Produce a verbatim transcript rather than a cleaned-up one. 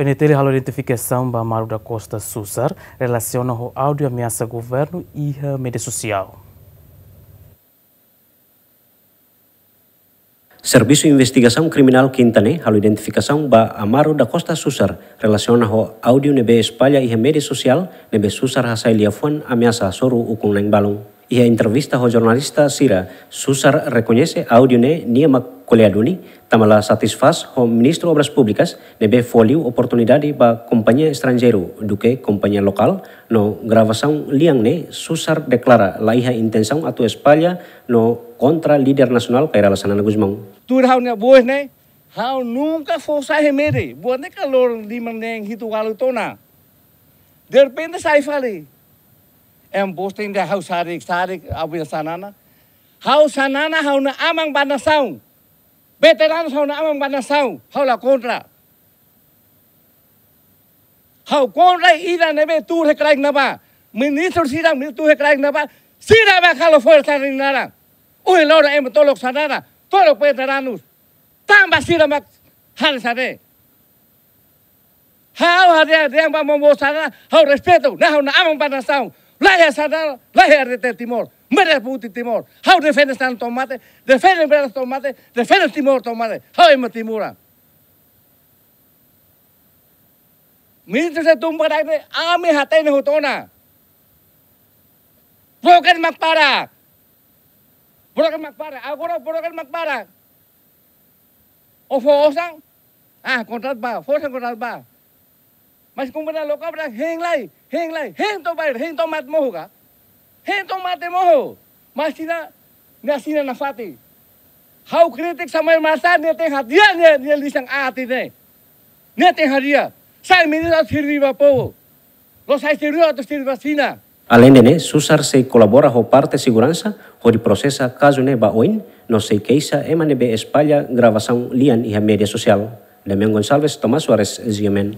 PNTL halo identifikasaun ba Amaro da Costa Susar, relasiona ho áudiu ameasa governu iha média sosiál. Servisu Investigasaun Kriminál Kinta ne'e halo identifikasaun ba Amaro da Costa Susar, relasiona ho áudiu ne'ebé espalla iha média sosiál, ne'ebé Susar hasai liafuan ameasa hasoru ukun-na'in balun. Iha entrevista ho jornalista sira, Susar rekoñese áudiu ne'e nia mak ko'alia duni, tanba la satisfás ho Ministru Obras Públikas, ne'ebé fó liu oportunidade ba kompañia estranjeiru duké kompañia lokál, no gravasaun lian ne'e Susar deklara la iha intensaun atu espalla no kontra líder nasionál Kay Rala Xanana Gusmão. Tuir ha'u-nia voz ne'e, ha'u nunka fó sai iha média, buat ne'e ka loron lima neen hitu ualu tiha ona. Derrepente sai fali. Em posting de ha'u sadik, sadik, abin Xanana. Ha'u Xanana, ha'u-nia aman ba nasaun. Veteranus, ha'u-nia aman ba nasaun. Ha'u la kontra. Ha'u kontra ida ne'ebé tuur iha kraik ne'ebá. Ministru sira, ministru tuur iha kraik ne'ebá. Sira mak halo forsa nia naran. Ohin loron ema tolok Xanana, tolok veteranus. Tanba sira mak halo saida. Ha'u haree dehan ba momo Xanana, ha'u respeitu, ne'e ha'u-nia aman ba nasaun. La iha Xanana, la iha R D T Timor. Merah putih Timor. Ha'u defende Xanana to'o mate, defende Merah to'o mate, defende Timor to'o mate. Ha'u ema Timor. Ministru sira tun ba daik ne'e, ami hatene hotu ona. Broken mak barak. Broken mak barak. Agora broken mak barak. Ó fó osan, ah, kontratu ba, fó osan kontratu ba. Mas kompañia lokál barak hein lai, hein lai, hein to'o bair, hein to'o mate mohu ka? Hein to'o mate mohu. Mas sira, nia asina nafatin. Ha'u kritika Samuel Marçal, nia tenke hadi'a nia, nia lisan aat ne'e. Nia tenke hadi'a. Sai ministru sirvi ba povu. La'ós sai sirvi atu sirvi ba sira. Aleinde ne'e, Susar sei kolabora ho parte seguransa, hodi prosesa kazu ne'e ba oin, no sei keixa ema ne'ebé espalla gravasaun lian iha média sosiál. Damian Gonçalves, Tomás Soares, G M N.